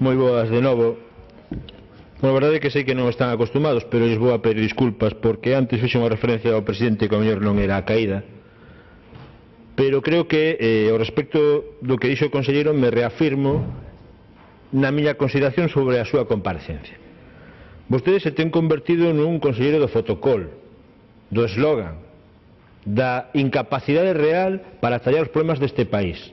moi boas de novo. A verdade é que sei que non están acostumados, pero lles vou a pedir disculpas porque antes fixe unha referencia ao presidente que ao mellor non era a caída. Pero creo que, ao respecto do que dixo o conselleiro, me reafirmo na miña consideración sobre a súa comparecencia. Vostedes se ten convertido nun conselleiro do fotocol, do eslogan, da incapacidade real para tallar os problemas deste país.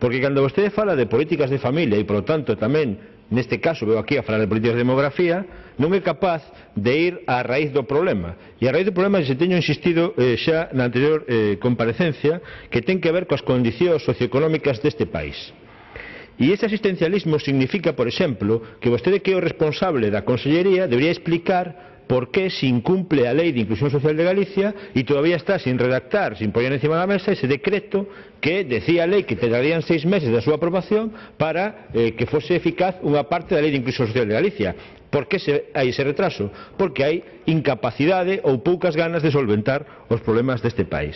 Porque cando vostede fala de políticas de familia e, polo tanto, tamén, neste caso, veo aquí a falar de políticas de demografía, non é capaz de ir á raíz do problema. E a raíz do problema, se teño insistido xa na anterior comparecencia, que ten que ver coas condicións socioeconómicas deste país. E ese asistencialismo significa, por exemplo, que vostede, que é o responsable da Consellería, debería explicar por que se incumple a Lei de Inclusión Social de Galicia e todavía está sin redactar, sin poñer encima da mesa ese decreto que decía a lei que tardarían 6 meses da súa aprobación para que fose eficaz unha parte da Lei de Inclusión Social de Galicia. Por que hai ese retraso? Porque hai incapacidade ou poucas ganas de solventar os problemas deste país.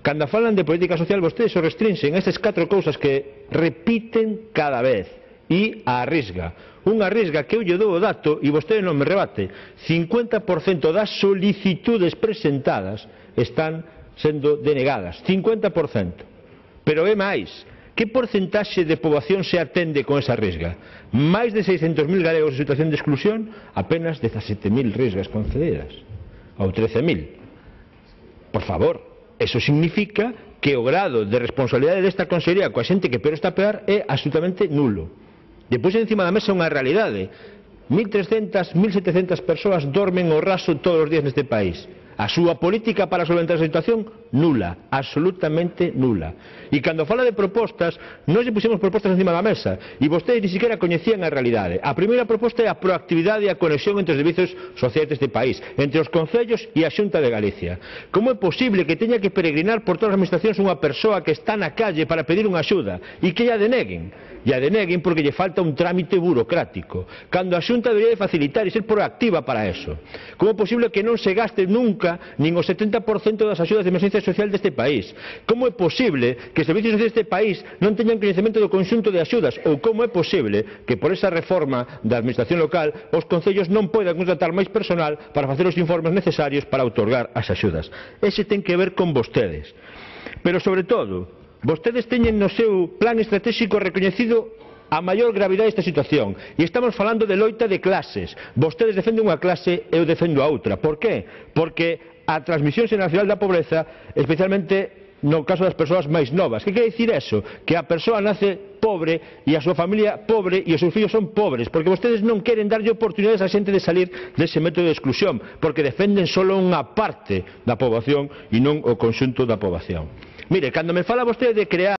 Cando falan de política social, vostedes o restringen a estas 4 cousas que repiten cada vez e a arrisga. Unha risga que eu lle dou o dato e vostede non me rebate. 50% das solicitudes presentadas están sendo denegadas. 50%. Pero é máis. Que porcentaxe de poboación se atende con esa risga? Máis de 600.000 galegos en situación de exclusión, apenas 17.000 risgas concedidas. Ou 13.000. Por favor, eso significa que o grado de responsabilidade desta consellería coa xente que peor está a pegar é absolutamente nulo. Depois encima da mesa unha realidade. 1.300, 1.700 persoas dormen ao raso todos os días neste país. A súa política para solventar esa situación, nula, absolutamente nula. E cando fala de propostas, nós lle puxemos propostas encima da mesa e vostedes ni siquiera coñecían a realidade. A primeira proposta é a proactividade e a conexión entre os servizos sociais deste país, entre os concellos e a Xunta de Galicia. Como é posible que teña que peregrinar por todas as administracións unha persoa que está na calle para pedir unha axuda e que lla deneguen? E a deneguen porque lle falta un trámite burocrático, cando a Xunta debería de facilitar e ser proactiva para eso. Como é posible que non se gaste nunca nin o 70% das axudas de emerxencia social deste país? Como é posible que os servizos sociais deste país non teñan coñecemento do conxunto de axudas? Ou como é posible que por esa reforma da administración local os concellos non poidan contratar máis personal para facer os informes necesarios para outorgar as axudas? Ese ten que ver con vostedes. Pero, sobre todo, vostedes teñen no seu plan estratégico recoñecido a maior gravidade desta situación e estamos falando de loita de clases. Vostedes defenden unha clase e eu defendo a outra. Por qué? Porque a transmisión xeracional da pobreza, especialmente no caso das persoas máis novas. Que quere dicir eso? Que a persoa nace pobre e a súa familia pobre e os seus fillos son pobres, porque vostedes non queren darlle oportunidades á xente de salir dese método de exclusión, porque defenden solo unha parte da poboación e non o conxunto da poboación. Mire, cando me fala vostede de crear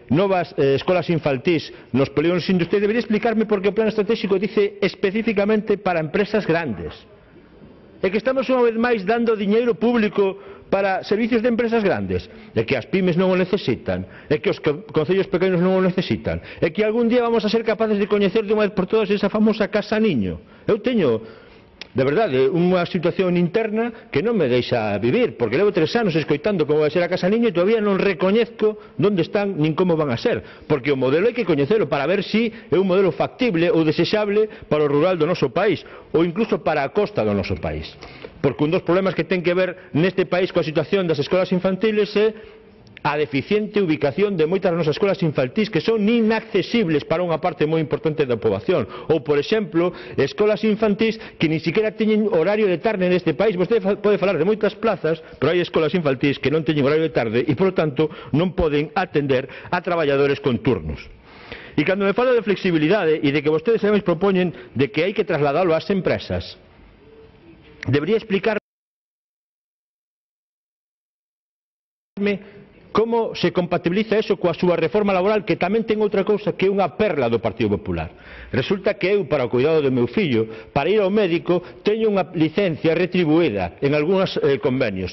novas escolas infantís nos polígonos industriais, debería explicarme por que o plan estratégico dice especificamente para empresas grandes. É que estamos unha vez máis dando diñeiro público para servicios de empresas grandes. É que as pymes non o necesitan, é que os concellos pequenos non o necesitan, é que algún día vamos a ser capaces de coñecer de unha vez por todas esa famosa casa niño. Eu teño, de verdade, unha situación interna que non me deixa vivir, porque levo 3 anos escoitando como vai ser a casa niño e todavía non recoñezco onde están nin como van a ser, porque o modelo hai que coñecelo para ver se é un modelo factible ou desexable para o rural do noso país ou incluso para a costa do noso país. Porque un dos problemas que ten que ver neste país coa situación das escolas infantiles é a deficiente ubicación de moitas das nosas escolas infantís que son inaccesibles para unha parte moi importante da poboación. Ou, por exemplo, escolas infantís que ni siquiera teñen horario de tarde neste país. Vostede pode falar de moitas plazas, pero hai escolas infantís que non teñen horario de tarde e, por lo tanto, non poden atender a traballadores con turnos. E cando me fala de flexibilidade e de que vostedes ademais propoñen de que hai que trasladalo ás empresas, debería explicarme como se compatibiliza eso coa súa reforma laboral, que tamén ten outra cousa que é unha perla do Partido Popular. Resulta que eu, para o cuidado do meu fillo, para ir ao médico, teño unha licencia retribuída en algúns convenios.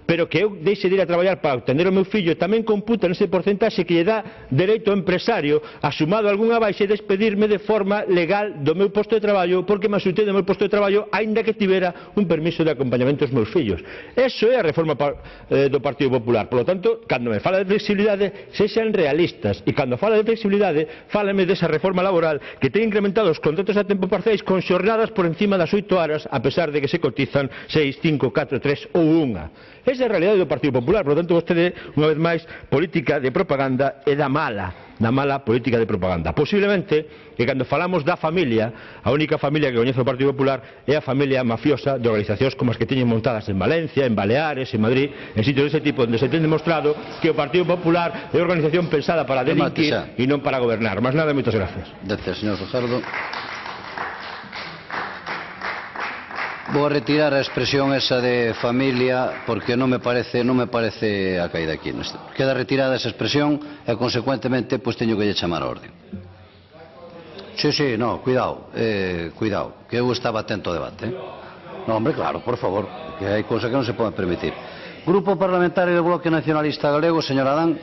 pero que eu deixe de ir a traballar para atender o meu fillo tamén computa nese porcentaxe que lle dá dereito ao empresario a sumado algunha baixa e despedirme de forma legal do meu posto de traballo porque me ausentei do meu posto de traballo aínda que tivera un permiso de acompañamento aos meus fillos. Eso é a reforma do Partido Popular. Por lo tanto, cando me fala de flexibilidade, sexan realistas, e cando fala de flexibilidade, fálame desa reforma laboral que ten incrementado os contratos a tempo parciais con xornadas por encima das 8 horas, a pesar de que se cotizan 6, 5, 4, 3 ou 1. Esa é a realidade do Partido Popular. Por lo tanto, vostede, unha vez máis, política de propaganda é da mala política de propaganda. Posiblemente que cando falamos da familia, a única familia que coñece o Partido Popular é a familia mafiosa de organizacións como as que teñen montadas en Valencia, en Baleares, en Madrid, en sitios dese tipo, onde se ten demostrado que o Partido Popular é unha organización pensada para delinquir e non para gobernar. Más nada, moitas gracias. Gracias, señor Fajardo. Vou a retirar a expresión esa de familia porque non me parece a caída aquí. Queda retirada esa expresión e, consecuentemente, pois teño que lle chamar a orde. Sí, no, cuidado, que eu estaba atento ao debate. No, hombre, claro, por favor, que hai cousas que non se poden permitir. Grupo Parlamentario do Bloque Nacionalista Galego, señor Adán.